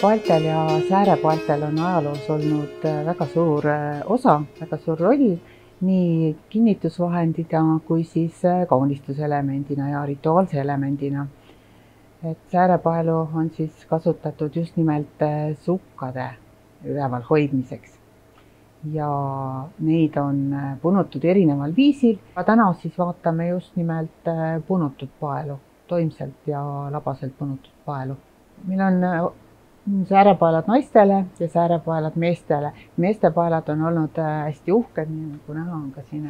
Paeltel ja säärepaeltel on ajaloos olnud väga suur osa, väga suur roll nii kinnitusvahendina kui siis kaunistuselemendina ja rituaalse elemendina. Et säärepaelu on siis kasutatud just nimelt sukkade üleval hoidmiseks ja neid on punutud erineval viisil. Täna siis vaatame just nimelt punutud paelu, toimselt ja labaselt punutud paelu. Meil on säärepaelad naistele ja säärepaelad meestele. Meeste paelad on olnud hästi uhked, nii nagu näha on ka siin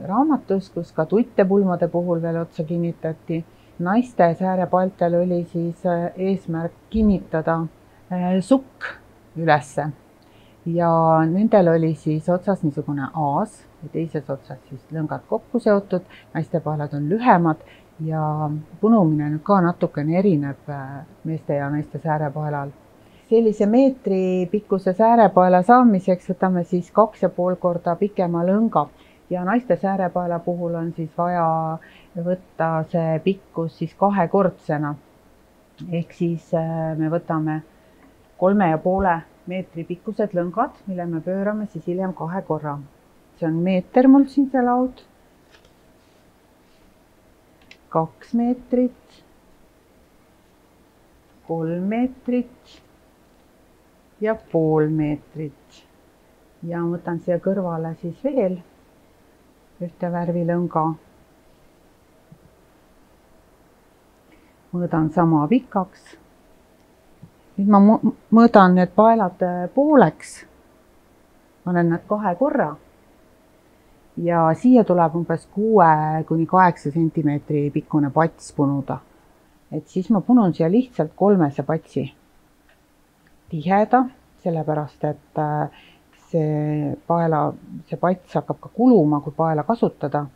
raamatus, kus ka tuttepulmade puhul veel otsa kinnitati. Naiste säärepaeltel oli siis eesmärk kinnitada sukk ülesse ja nendel oli siis otsas niisugune aas ja teises otsas siis lõngad kokku seotud. Naiste paelad on lühemad ja punumine nüüd ka natukene erineb meeste ja naiste säärepaelal. Sellise meetri pikkuse säärepaela saamiseks võtame siis 2,5 korda pikema lõnga ja naiste säärepaela puhul on siis vaja võtta see pikkus siis kahekordsena. Ehk siis me võtame 3,5 meetri pikkused lõngad, mille me pöörame siis hiljem 2 korra. See on meeter mul siin see laud. 2 meetrit, 3 meetrit ja pool meetrit. Ja võtan siia kõrvale siis veel ühte värvi lõnga. Mõõdan sama pikaks. Nüüd ma mõõdan need paelad pooleks. Panen nad 2 korra. Ja siia tuleb umbes 6 kuni 8 sentimeetri pikkune pats punuda. Et siis ma punun siia lihtsalt 3 patsi. Tiheda, sellepärast et see pats hakkab ka kuluma, kui paela kasutada.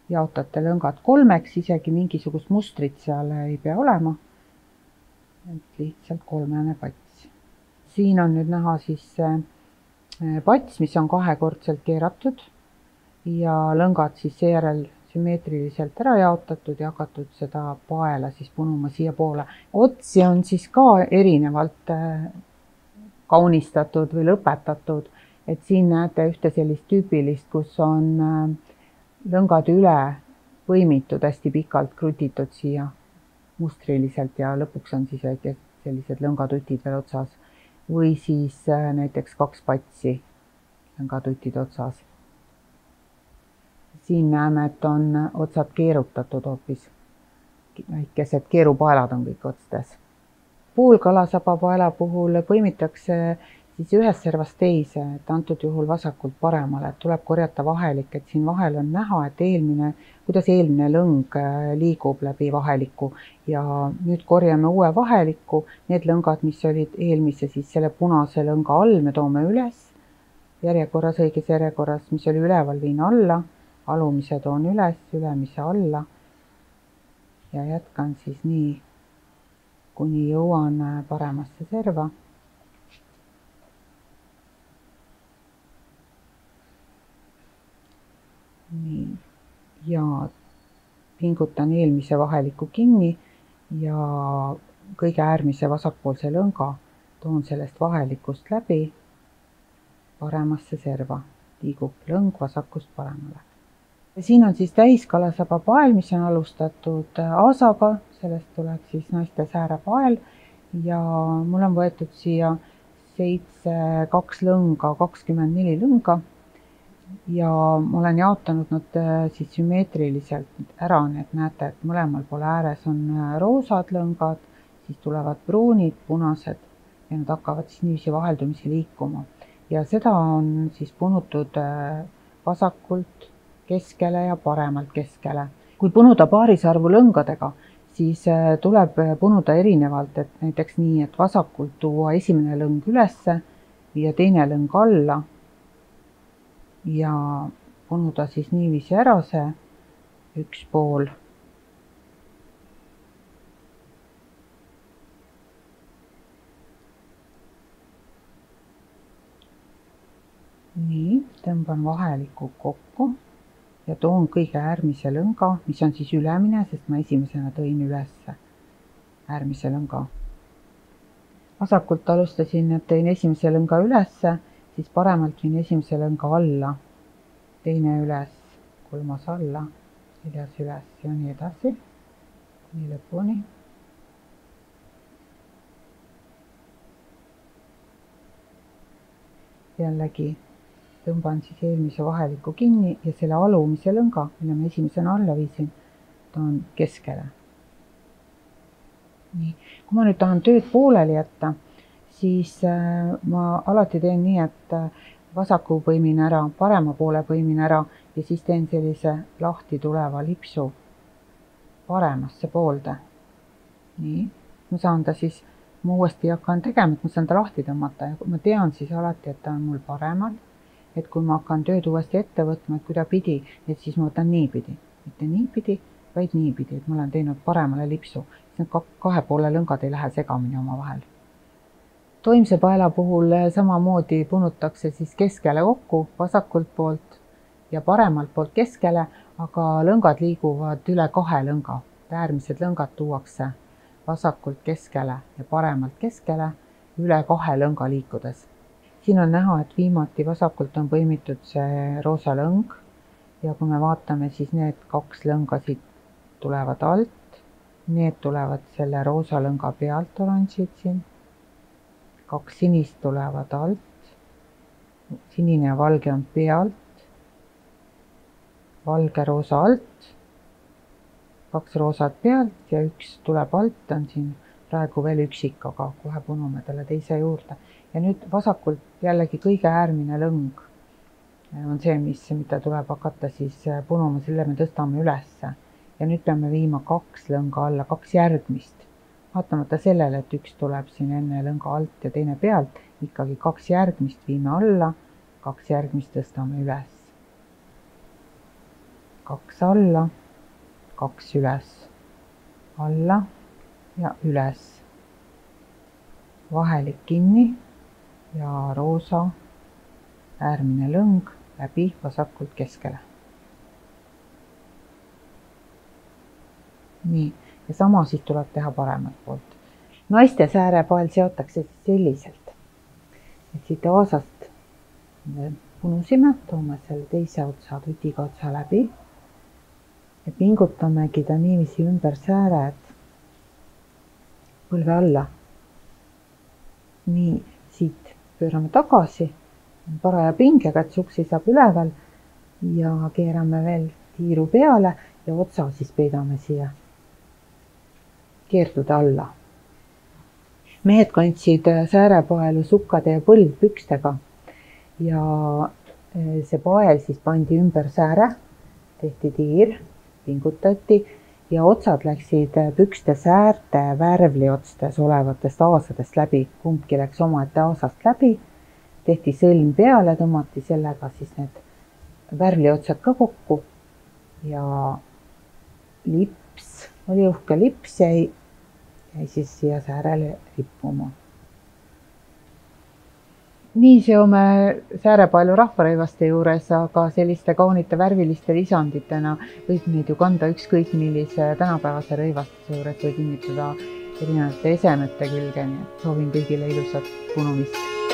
Jaotate lõngad 3-ks, isegi mingisugust mustrit seal ei pea olema. Et lihtsalt 3 pats. Siin on nüüd näha siis pats, mis on 2-kordselt keeratud. Ja lõngad siis seejärel sümmeetriliselt ära jaotatud ja hakatud seda paela siis punuma siia poole. Otsi on siis ka erinevalt kaunistatud või lõpetatud. Et siin näete ühte sellist tüüpilist, kus on lõngad üle põimitud hästi pikalt krutitud siia mustriliselt ja lõpuks on siis sellised lõngatutid veel otsas. Või siis näiteks 2 patsi lõngatutid otsas. Siin näeme, et on otsad keerutatud hoopis. Väikesed keerupaelad on kõik otstes. Poolkalasaba paela puhul põimitakse siis ühest servast teise, et antud juhul vasakult paremale. Tuleb korjata vahelik, et siin vahel on näha, et kuidas eelmine lõng liigub läbi vaheliku. Ja nüüd korjame uue vaheliku. Need lõngad, mis olid eelmise, siis selle punase lõnga all me toome üles. Järjekorras, õiges järjekorras, mis oli üleval, viin alla. Alumise toon üles, ülemise alla ja jätkan siis nii, kuni jõuan paremasse serva. Nii. Ja pingutan eelmise vaheliku kinni ja kõige äärmise vasakpoolse lõnga toon sellest vahelikust läbi paremasse serva. Liigub lõng vasakust paremale. Siin on siis täiskalasaba pael, mis on alustatud aasaga, sellest tuleb siis naiste säärepael ja mul on võetud siia 2 lõnga, 24 lõnga ja ma olen jaotanud nad siis sümmeetriliselt ära, nii et näete, et mõlemal pool ääres on roosad lõngad, siis tulevad pruunid, punased ja nad hakkavad siis niiviisi vaheldumisi liikuma. Ja seda on siis punutud vasakult keskele ja paremalt keskele. Kui punuda paarisarvu lõngadega, siis tuleb punuda erinevalt, et näiteks nii, et vasakult tuua esimene lõng ülesse, viia teine lõng alla ja punuda siis niiviisi ära see üks pool. Nii, tõmban vaheliku kokku. Ja toon kõige äärmise lõnga, mis on siis ülemine, sest ma esimesena tõin üles äärmise lõnga. vasakult alustasin, et tõin esimese lõnga ülesse, siis paremalt viin esimese lõnga alla, teine üles, kolmas alla, neljas üles ja nii edasi, nii lõpuni. Jällegi tõmban siis eelmise vaheliku kinni ja selle alumise lõnga, mille ma esimesena alla viisin, toon keskele. Nii. Kui ma nüüd tahan tööd pooleli jätta, siis ma alati teen nii, et vasaku põimin ära, parema poole põimin ära ja siis teen sellise lahti tuleva lipsu paremasse poolde. Nii. Ma saan ta siis, ma uuesti hakkan tegema, et ma saan ta lahti tõmmata ja ma tean siis alati, et ta on mul paremal. Et kui ma hakkan tööd uuesti ette võtma, et kuidapidi, et siis ma võtan niipidi. Mitte niipidi, vaid niipidi, et ma olen teinud paremale lipsu. Need kahe poole lõngad ei lähe segamini oma vahel. Toimse paela puhul samamoodi punutakse siis keskele kokku, vasakult poolt ja paremalt poolt keskele, aga lõngad liiguvad üle 2 lõnga. Äärmised lõngad tuuakse vasakult keskele ja paremalt keskele üle 2 lõnga liikudes. Siin on näha, et viimati vasakult on põimitud see roosa lõng ja kui me vaatame, siis need 2 lõnga siit tulevad alt, need tulevad selle roosa lõnga pealt, oranžid siin, 2 sinist tulevad alt, sinine ja valge on pealt, valge roosa alt, 2 roosat pealt ja 1 tuleb alt, on siin praegu veel üksik, aga kohe punume talle teise juurde. Ja nüüd vasakult jällegi kõige äärmine lõng on see, mida tuleb hakata siis punuma, selle me tõstame ülesse. Ja nüüd peame viima 2 lõnga alla, 2 järgmist. Vaatamata sellele, et 1 tuleb siin enne lõnga alt ja teine pealt, ikkagi 2 järgmist viime alla, 2 järgmist tõstame üles. 2 alla, 2 üles, alla ja üles. Vahelik kinni ja roosa äärmine lõng läbi vasakult keskele. Nii, ja sama siis tuleb teha paremalt poolt. Naiste säärepael seotakse selliselt, et siit aasast punusime, toome selle teise otsa, tutiga otsa läbi ja pingutamegi ta niiviisi ümber sääred põlve alla. Nii, siit pöörame tagasi, paraja pingega, et suksi saab üleval ja keerame veel tiiru peale ja otsa siis peidame siia keerduda alla. Mehed kandsid säärepaelu sukkade ja põldpükstega ja see pael siis pandi ümber sääre, tehti tiir, pingutati ja otsad läksid pükste säärte värvliotstes olevatest aasadest läbi. Kumbki läks omaette aasast läbi, tehti sõlm peale, tõmmati sellega siis need värvliotsad ka kokku ja lips, oli uhke lips, jäi siis siia säärele rippuma. Nii seome säärepaelu rahvarõivaste juures, aga selliste kaunite värviliste lisanditena võib neid ju kanda ükskõik millise tänapäevase rõivastuse juures või kinnitada erinevate esemete külge. Soovin kõigile ilusat punumist.